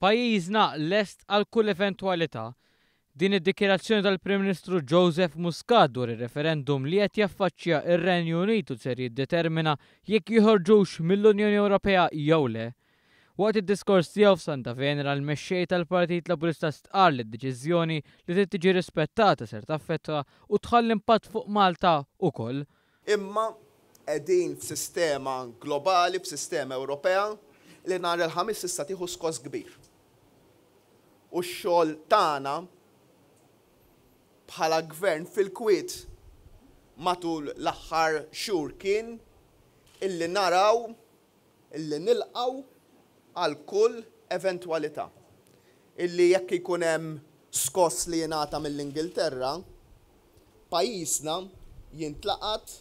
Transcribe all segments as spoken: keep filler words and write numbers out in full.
Pajjiżna lest għal kull eventwalità. Din id-dikjarazzjoni tal-Prim Ministru Joseph Muscat dwar ir-referendum li qed jaffaċċja ir-Renju Unit u ser jiddetermina jekk joħorġux mill-Unjoni Ewropea jew le. Waqt id-diskors tiegħu f'Santa Venera, l-mexxej tal-Partit Laburista stqarr li d-deċiżjoni li trid tiġi rispettata ser taffettwa u tħalli impatt fuq Malta ukoll. Imma qegħdin f'sistema globali, f'sistema Ewropea li nhar il-Ħamis tista' tieħu skos kbir. U x-xogħol tagħna bħala gvern fil-kwiet matul l-aħħar xhur kien illi naraw illi nilqgħu għal kull eventwalità. Illi jekk ikun hemm skoss li jingħata mill-Ingilterra, pajjiżna jintlaqat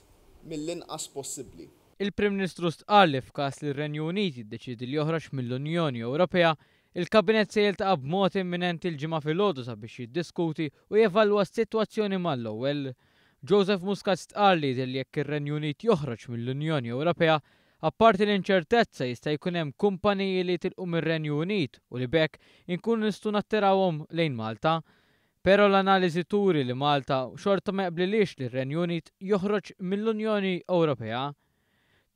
mill-inqas possibbli. Il-Prim Ministru stqarr li f'każ li r-Renju Unit jiddeċiedi li joħroġ mill-Unjoni Ewropea, il-Kabinett se jiltaqa' b'mod imminenti l-Ġimgħa filgħodu sabiex jiddiskuti u jevalwa s-sitwazzjoni mal-ewwel. Joseph Muscat stqarr li jidher li jekk ir-Renju Unit joħroġ mill-Unjoni Ewropea, apparti l-inċertezza, jista' jkun hemm kumpaniji li jitilqu mir-Renju Unit u li b'hekk inkunu nistgħu nattirawhom lejn Malta. Però l-analiżi turi li Malta xorta ma jaqblilix li r-Renju Unit joħroġ mill-Unjoni Ewropea.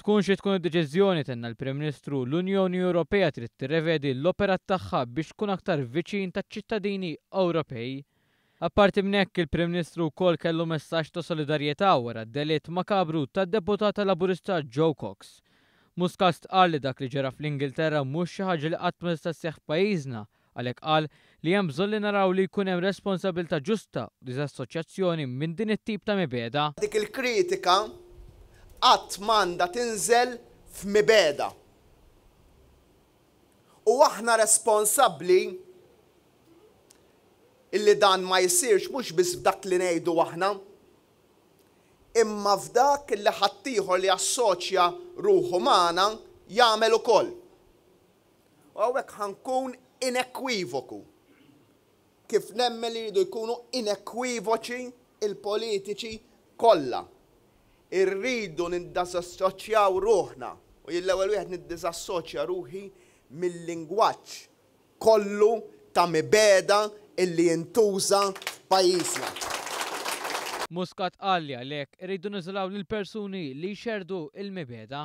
Tkun xi tkun id-deċiżjoni, tenna l-Prim Ministru, l-Unjoni Ewropea trid tirrevedi l-operat tagħha biex tkun aktar viċin taċ-ċittadini Ewropej. Apparti minn hekk, il-Prim Ministru wkoll kellu messaġġ ta' solidarjetà wara d-delitt makabru tad-deputata Laburista Jo Cox. Muscat stqarr li dak li ġara fl-Ingilterra mhux xi ħaġa li qatt ma tista' sseħħ f'pajjiżna, għalhekk qal li hemm bżonn li naraw li jkun hemm responsabilità ġusta u diżassoċjazzjoni minn din it-tip ta' mibegħda. Dik il-kritika qatt m'għandha tinżel f'mibegħda. U aħna responsabbli illi dan ma jsirx mhux biss f'dak li ngħidu aħna, imma f'dak li ħaddieħor li assoċja ruħu magħna jagħmel ukoll. U hawnhekk ħa nkun inekwivoku. Kif nemmen li jridu jkunu inekwivoċi il-politiċi kollha. Irridu niddiżassoċjaw ruħna u jien l-ewwel wieħed niddiżassoċja ruħi mill-lingwaġġ kollu ta' mibegħda illi jintuża f'pajjiżna. Muscat qal li għalhekk irridu niżolaw lill-persuni li jxerdu il-mibegħda.